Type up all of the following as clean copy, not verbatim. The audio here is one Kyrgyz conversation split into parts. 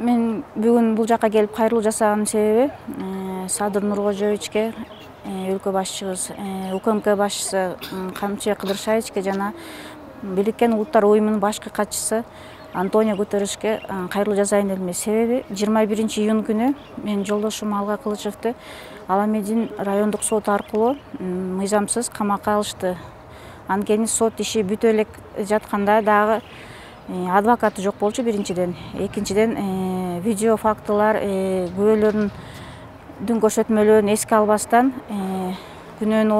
Мен бүгүн бул жака келип кайрылуу жасаганын себеби Садыр Нуркожоевичке, өлкө башчыбыз, УКМК башчысы Камчы Кыдыршаевичке жана Бириккен Улуттар уюмунун башкы катчысы Антонио Гутерришке кайрылуу жасайын дедим. Себеби 21-июнь күнү мен жолдошум Алга Кылычевди Аламедин райондук сот аркылуу мыйзамсыз камакка алышты. Анткени сот иши бүтө элек жатканда дагы адвокаты жок болчу биринчиден. Экинчиден видео фактылар, күбөлөрдүн көрсөтмөлөрүн эске албастан күнөөнү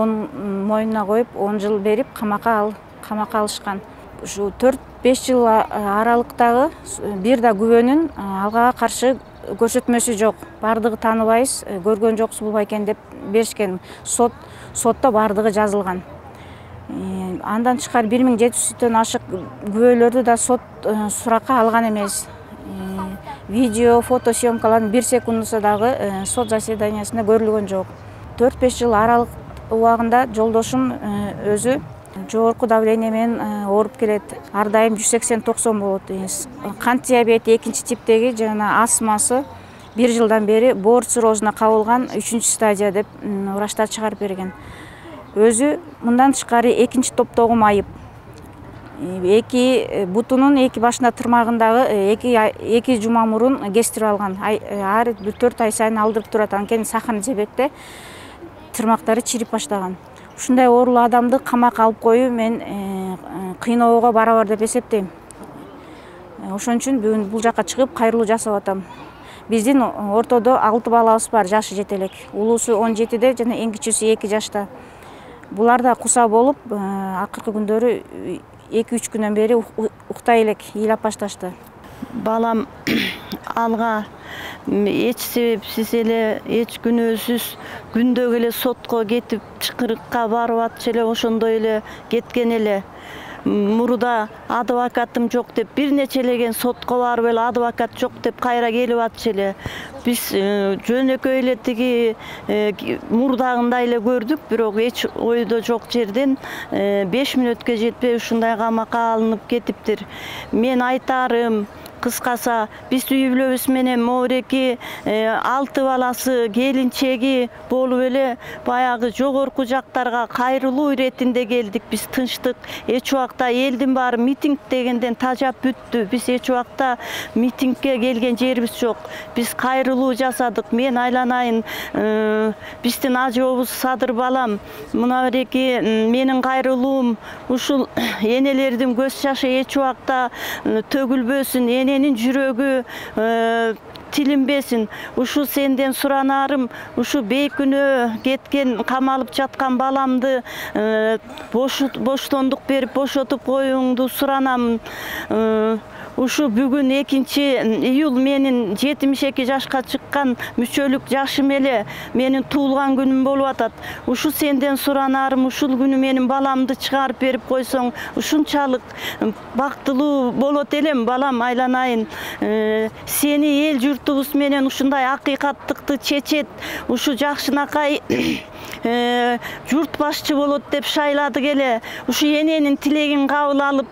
мойнуна коюп 10 жыл берип камакка алышкан. Ушу 4-5 жыл аралыктагы бир да күбөнүн Алгага каршы көрсөтмөсү жок. Бардыгы тааныбайбыз, көргөн жоксуз бул байкен деп беришкен. Сотто бардыгы жазылган. Андан тышкары 1700-төн ашык күбөлөрдү да сот суракка алган эмес. Видео, фото съемкалардын 1 секундусу дагы сот заседаниясында көрүлгөн жок. 4-5 жыл аралык убагында жолдошум өзү жогорку давление менен ооруп келет. Ар дайым 180-90 болот. Кант диабети 2-типтеги жана астмасы 1 жылдан бери боор циррозуна кабылган 3-стадия деп врачтар чыгарып берген. Өзү мындан тышкары 2-топтогу майып. 2 бутунун 2 башында тырмагындагы 2 жума мурун кестирип алган. Ар 4 ай сайын алдырып турат. Анткени сахарный диабетте тырмактары чирип баштаган. Ушундай оорулуу адамды камакка алып коюу мен кыйноого барабар деп эсептейм. Ошон үчүн бүгүн бул жака чыгып кайрылуу жасап атам. Биздин ортодо 6 балабыз бар, жашы жете элек. Улуусу 17де жана эң кичүүсү 2 жашта. Булар да куса болуп, акыркы күндөрү 2-3 күндөн бери уктай элек, ыйлап башташты. Балам Алга эч себепсиз эле, эч күнөөсүз күндөгө эле сотко кетип, чакырыкка барып атчу эле, ошондой эле кеткен эле. Мурда адвокатым жок деп бир нечелеген сотко барып эле адвокат жок деп кайра келип атчу эле. Биз жөнөкөй эле тиги мурдагындай эле көрдүк, бирок эч ойдо жок жерден 5 мүнөткө жетпей ушундай камакка алынып кетиптир. Мен айтарым, кыскаса, биз үй бүлөбүз менен Моореки 6 баласы, келинчеги болуп эле баягы жогорку жактарга кайрылуу иретинде келдик. Биз тынчтык, эч убакта элдин баары митинг дегенден тажап бүттү. Биз эч убакта митингге келген жерибиз жок. Биз кайрылуу жасадык. Мен айланайын, биздин ажообуз Садыр балам, мына береки менин кайрылуум ушул энелердин көз жашы эч убакта төгүлбөсүн, эненин жүрөгү тилинбесин. Ушу сенден суранарым, ушу бейкүнөө кеткен, камалып жаткан баламды боштондук берип бошотуп коюңду суранам. Ушу бүгүн 2-июль менин 72 жашка чыккан мүчөлүк жашым эле менин туулган күнүм болуп атат. Ушу сенден суранарым, ушул күнү менин баламды чыгарып берип койсоң, ушунчалык бактылуу болот элем, балам, айланайын. Сени эл журтубуз менен ушундай акыйкаттыкты чечет, ушу жакшынакай журт башчы болот деп шайладык эле. Ушу эненин тилегин кабыл алып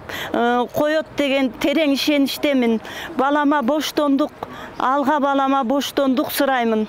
коет деген терең ишеништемин. Балама боштондук, Алга балама боштондук сураймын.